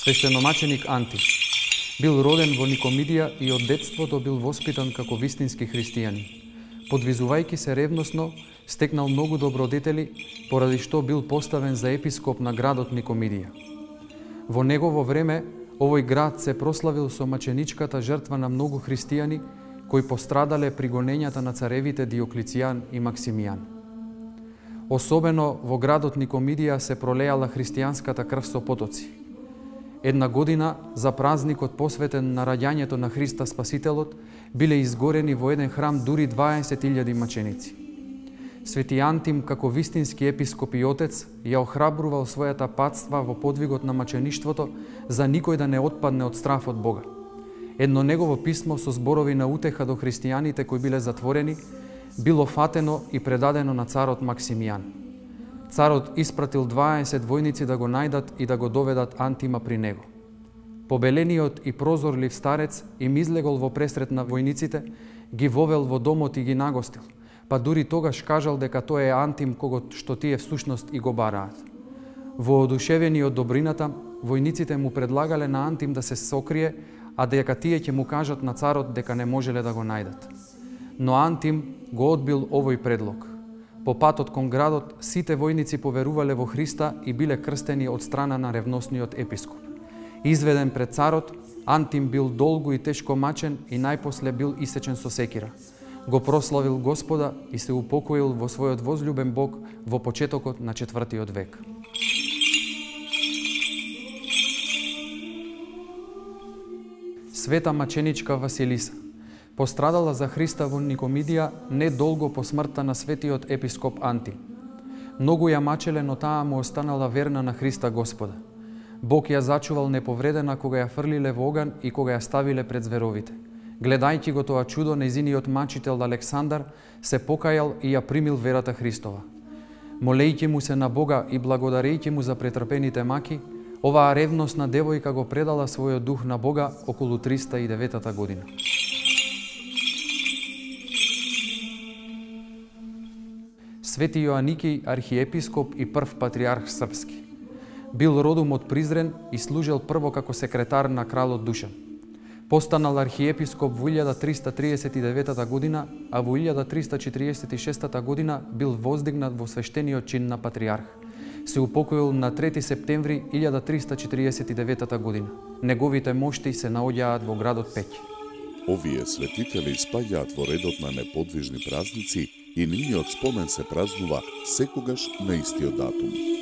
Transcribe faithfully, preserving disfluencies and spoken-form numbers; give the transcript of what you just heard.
Свештеномаченик Анти бил роден во Никомидија и од детството бил воспитан како вистински христијанин. Подвизувајќи се ревносно, стекнал многу добродетели, поради што бил поставен за епископ на градот Никомидија. Во негово време, овој град се прославил со маченичката жртва на многу христијани кои пострадале при гонењата на царевите Диоклицијан и Максимијан. Особено во градот Никомидија се пролеала христијанската крв со потоци. Една година, за празникот посветен на раѓањето на Христа Спасителот, биле изгорени во еден храм дури дваесет илјади маченици. Свети Антим, како вистински епископ и отец, ја охрабрувал својата патства во подвигот на мачеништвото за никој да не отпадне од страф од Бога. Едно негово писмо со зборови на утеха до христијаните кои биле затворени, било фатено и предадено на царот Максимијан. Царот испратил дваесет војници да го најдат и да го доведат Антима при него. Побелениот и прозорлив старец им излегол во пресрет на војниците, ги вовел во домот и ги нагостил, па дури тогаш кажал дека тој е Антим кого што тие всушност и го бараат. Воодушевени од добрината, војниците му предлагале на Антим да се сокрие, а дека тие ќе му кажат на царот дека не можеле да го најдат. Но Антим го одбил овој предлог. По патот кон градот, сите војници поверувале во Христа и биле крстени од страна на ревносниот епископ. Изведен пред царот, Антим бил долго и тешко мачен и најпосле бил исечен со секира. Го прославил Господа и се упокоил во својот возлюбен Бог во почетокот на четвртиот век. Света маченичка Василиса пострадала за Христа во Никомидија недолго по смртта на светиот епископ Анти. Многу ја мачеле, но таа му останала верна на Христа Господа. Бог ја зачувал неповредена кога ја фрлиле во оган и кога ја ставиле пред зверовите. Гледајќи го тоа чудо, нејзиниот мачител Александар се покајал и ја примил верата Христова. Молејќи му се на Бога и благодарејќи му за претрпените маки, оваа ревносна девојка го предала својот дух на Бога околу триста и деветата година. Свети Јоаники, архиепископ и прв патриарх српски. Бил родом од Призрен и служел прво како секретар на кралот Душан. Постанал архиепископ во илјада триста триесет и деветата година, а во илјада триста четириесет и шестата година бил воздигнат во свештениот чин на патриарх. Се упокоил на трети септември илјада триста четириесет и деветата година. Неговите мошти се наоѓаат во градот Пеќ. Овие светители спаѓаат во редот на неподвижни празници и нивниот спомен се празнува секогаш на истиот датум.